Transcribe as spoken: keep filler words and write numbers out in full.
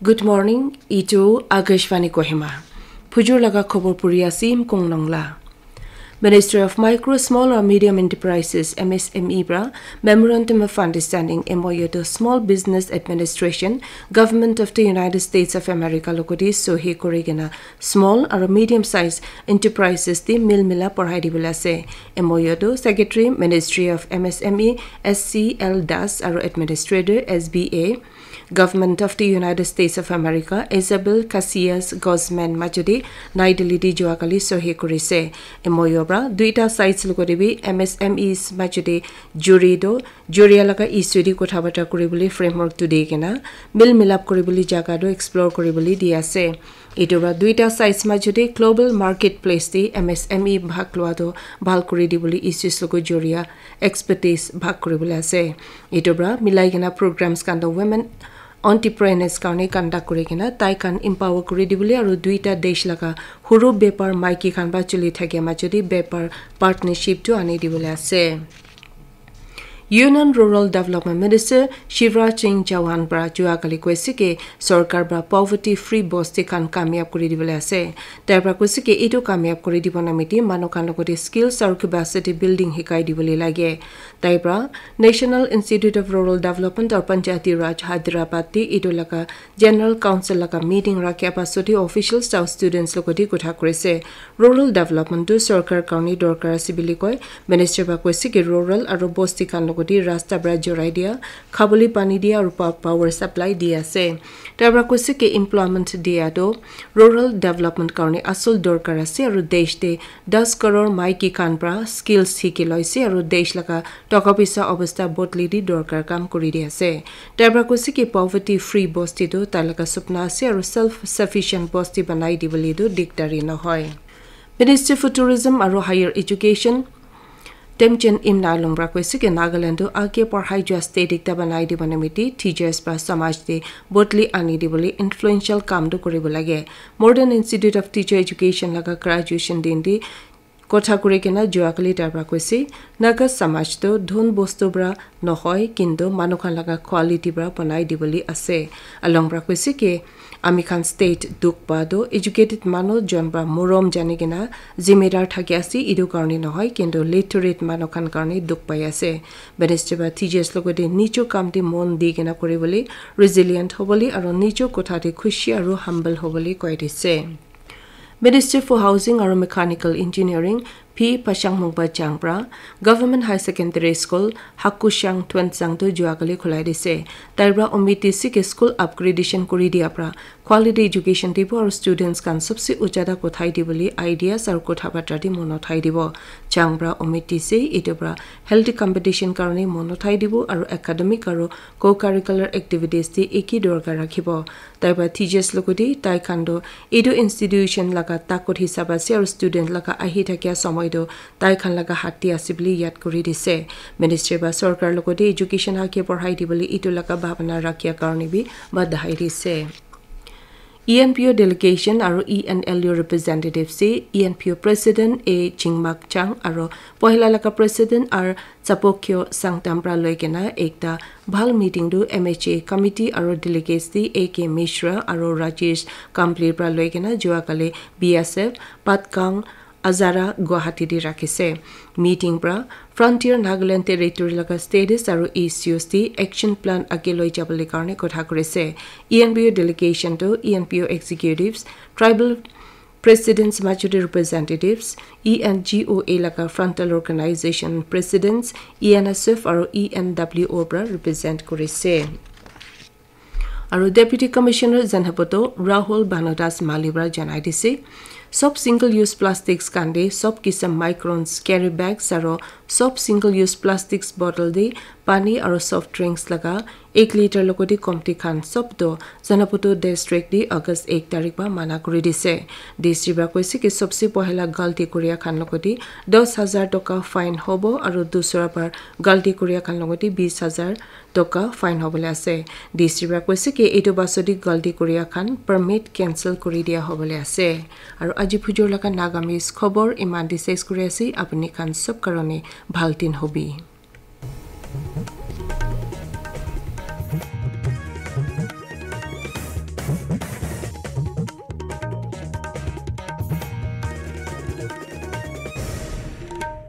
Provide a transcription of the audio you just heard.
Good morning, itu Akashvani Kohima. Phujur laga khobor puri ase Imkong Nongla. Ministry of Micro, Small or Medium Enterprises, M S M E, pra Memorandum of Understanding, M O U, to Small Business Administration, Government of the United States of America logoti sohi kuri kena small or medium size enterprises te mil mila porai dibole ase. M O U to Secretary, Ministry of M S M E, S C L Das, aro Administrator, S B A, Government of the United States of America, Isabel Casillas Guzman majudi Nai Delhi di joa kali sohi kurise. M O U pra duita sides logoti bi M S M Es majudi juri do, juria laga issue di kotha bata kuribole framework tu di kena, mil milap kuribole jaga do explore kuribole di ase. Itu pra duita sides majudi global marketplace di M S M E bhag lua do bhal kuri dibole issues logo juria expertise bhag kuribole ase. Itu pra milai kena programs khan do women entrepreneurs karone conduct kuri kena tai khan empower kuri dibole aro duita desh laga huru bepar maiki khan ba chuli thake majudi bepar partnership tu ani dibole ase. Union Rural Development Minister Shivraj Singh Chauhan pra jua kali koise ki sorkar pra poverty free bosti khan kamyab kuri dibole ase. Tai pra koise ki itu kamyab kuri dibo namiti manu khan logoti skills aru capacity building hikai dibole lage. Tai pra National Institute of Rural Development aru Panchayati Raj Hyderabad te itu laga General Council laga meeting rakhia pasot hi officials aru students logoti kotha kurise. Rural development tu sorkar karone dorkar ase bili koi. Minister ba koise ki rural aru bosti khan logoti rasta pra jorai dia, khabole pani dia aru pa-, power supply di ase. Tai pra koise ki employment dia tu rural development karone asol dorkar ase aru desh te das crore maiki khan pra skills hiki loise aru desh laga toka pisa obostha bodli di dorkar kam kuri di ase. Tai pra koise ki poverty free bosti tu tai laga supna ase aru self sufficient bosti banai dibole tu dikdari nohoi. Minister for Tourism aru Higher Education Temjen Imna Along pra koise ki Nagaland tu age padhai jua state ekta banai dibo namiti teachers pra samaj te bodli ani dibole influential kam tu kuribo lage. Modern Institute of Teacher Education laga graduation din di kotha kuri kena jua kali tai pra koise, Naga samaj tu dhon bostu pra nohoi, kintu manu khan laga quality pra banai dibole ase. Along pra koise ki, ami khan state dukh pa tu educated manu jon pra morom jani kena zimedar thaki ase, etu karone nohoi, kintu literate manu khan karone dukh pai ase. Minister pra teachers logoti nijo kam te mon di kena kuribole, resilient hobole, aru nijo kotha te khushi aru humble hobole koi dise. Minister for Housing aru Mechanical Engineering P Pashang Mungpa Chang pra Government High Secondary School Hakushang Tuensang tu jua kali khulai dise. Tai pra umid dise ki school upgradation kuri dia pra quality education dibo aru students khan sobse ujada kothai dibole ideas aru kotha batra di mon uthai dibo. Chang pra umid dise etu pra healthy competition karone mon uthai dibo aru academic aru co-curricular activities te eki dorkar rakhibo. Tai pra teachers logoti tai khan tu etu institution laga takot hisab ase aru student laga ahi thakia somoi tu tai khan laga hat te ase bole yad kuri dise. Ministry pra sorkar logoti education age padhai dibole etu laga bhabana rakhia karone bi badhai dise. E N P O delegation aru E N L U representative se E N P O president A Chingmak Chang aru pohila laga president R Chapokyo Sangtam pra loi kena ekta bhal meeting tu M H A committee aru delegates di A K Mishra aru Rajesh Kambli pra loi kena jua kali B S F Patgang Azara Guwahati di rakhise. Meeting pra Frontier Nagaland Territory laga status aru issues di action plan age loi jabole karone kotha kurise. E N P O delegation tu E N P O executives, tribal presidents majority representatives, E N G O A laga frontal organization presidents, E N S F aru E N W O pra represent kurise. Aru Deputy Commissioner Zanapoto Rahul Bhanu Das Mali pra janai dise, sob single use plastics khan de sob kisam microns carry bags aru sob single use plastics bottle de pani aru soft drinks laga ek liter logoti komti khan sob to Zanapoto district di August ek tarik pa mana kuri dise. D C pra koise ki sobse pohila galti kuria khan logoti dos hazar toka fine hobo aru dusra par galti kuria khan logoti bis hazar toka fine hobole ase. D C pra koise ki etu basodi galti kuria khan permit cancel kuri dia hobole ase. Aru aji phujur laga Nagamese khobor iman di ses kuri ase. Apuni khan sob karone bhal din hobi.